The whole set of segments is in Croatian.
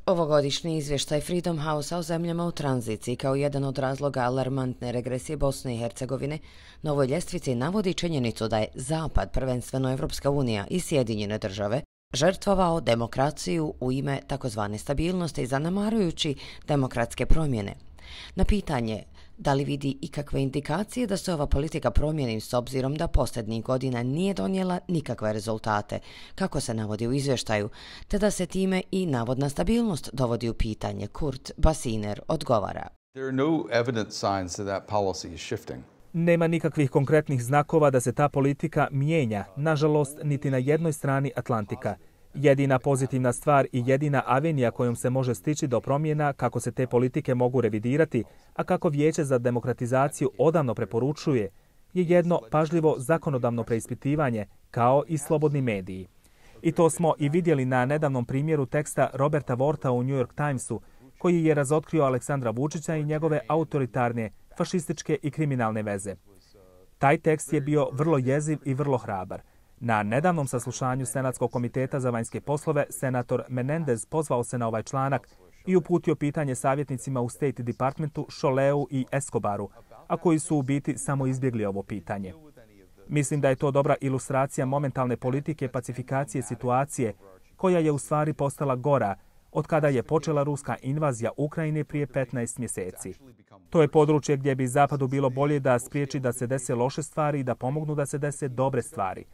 Ovogodišnji izvještaj Freedom House-a o zemljama u tranziciji kao jedan od razloga alarmantne regresije Bosne i Hercegovine na ovoj ljestvici navodi činjenicu da je Zapad, prvenstveno Evropska unija i Sjedinjene države, žrtvovao demokraciju u ime takozvane stabilnosti, zanemarujući demokratske promjene. Na pitanje da li vidi ikakve indikacije da se ova politika promijeni s obzirom da posljednjih godina nije donijela nikakve rezultate, kako se navodi u izvještaju, te da se time i navodna stabilnost dovodi u pitanje, Kurt Basiner odgovara. Nema nikakvih konkretnih znakova da se ta politika mijenja, nažalost, niti na jednoj strani Atlantika. Jedina pozitivna stvar i jedina avenija kojom se može stići do promjena kako se te politike mogu revidirati, a kako Vijeće za demokratizaciju odavno preporučuje, je jedno pažljivo zakonodavno preispitivanje, kao i slobodni mediji. I to smo i vidjeli na nedavnom primjeru teksta Roberta Worta u New York Timesu, koji je razotkrio Aleksandra Vučića i njegove autoritarne, fašističke i kriminalne veze. Taj tekst je bio vrlo jeziv i vrlo hrabar. Na nedavnom saslušanju Senatskog komiteta za vanjske poslove, senator Menendez pozvao se na ovaj članak i uputio pitanje savjetnicima u State Departmentu Šoleu i Escobaru, a koji su u biti samo izbjegli ovo pitanje. Mislim da je to dobra ilustracija momentalne politike pacifikacije situacije, koja je u stvari postala gora od kada je počela ruska invazija Ukrajine prije 15 mjeseci. To je područje gdje bi Zapadu bilo bolje da spriječi da se dese loše stvari i da pomognu da se dese dobre stvari.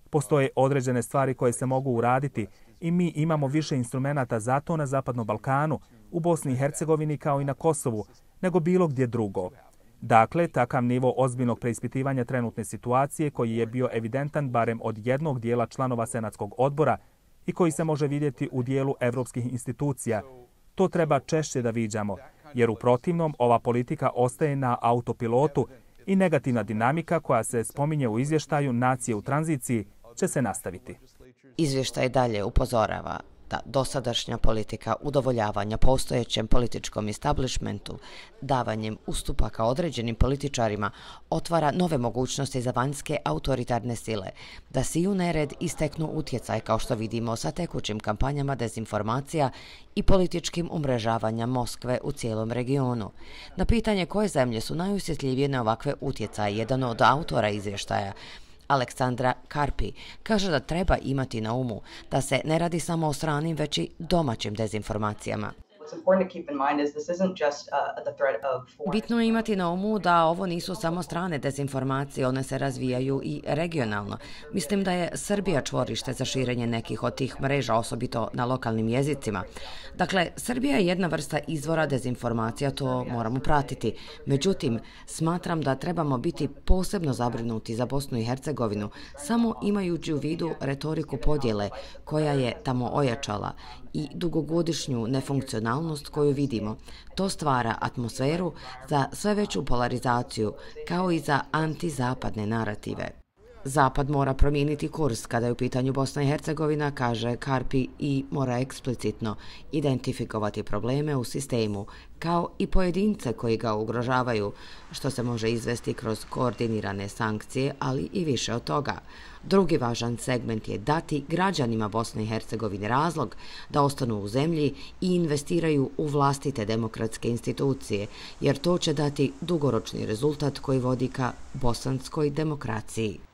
Postoje određene stvari koje se mogu uraditi i mi imamo više instrumenata za to na Zapadnom Balkanu, u Bosni i Hercegovini kao i na Kosovu, nego bilo gdje drugo. Dakle, takav nivo ozbiljnog preispitivanja trenutne situacije koji je bio evidentan barem od jednog dijela članova Senatskog odbora i koji se može vidjeti u dijelu evropskih institucija, to treba češće da viđamo, jer u protivnom ova politika ostaje na autopilotu i negativna dinamika koja se spominje u izvještaju Nacije u tranziciji će se nastaviti. Izvještaj dalje upozorava da dosadašnja politika udovoljavanja postojećem političkom establishmentu, davanjem ustupaka određenim političarima, otvara nove mogućnosti za vanjske autoritarne sile, da siju nered i steknu utjecaj, kao što vidimo sa tekućim kampanjama dezinformacija i političkim umrežavanja Moskve u cijelom regionu. Na pitanje koje zemlje su najosjetljivije na ovakve utjecaje, jedan od autora izvještaja, Aleksandra Karpi, kaže da treba imati na umu da se ne radi samo o stranim, već i domaćim dezinformacijama. Bitno je imati na umu da ovo nisu samo strane dezinformacije, one se razvijaju i regionalno. Mislim da je Srbija čvorište za širenje nekih od tih mreža, osobito na lokalnim jezicima. Dakle, Srbija je jedna vrsta izvora dezinformacija, to moramo pratiti. Međutim, smatram da trebamo biti posebno zabrinuti za Bosnu i Hercegovinu, samo imajući u vidu retoriku podjele koja je tamo ojačala i dugogodišnju nefunkcionalnost koju vidimo. To stvara atmosferu za sve veću polarizaciju, kao i za antizapadne narative. Zapad mora promijeniti kurs kada je u pitanju Bosna i Hercegovina, kaže Karpi, i mora eksplicitno identifikovati probleme u sistemu, kao i pojedince koji ga ugrožavaju, što se može izvesti kroz koordinirane sankcije, ali i više od toga. Drugi važan segment je dati građanima Bosne i Hercegovine razlog da ostanu u zemlji i investiraju u vlastite demokratske institucije, jer to će dati dugoročni rezultat koji vodi ka bosanskoj demokraciji.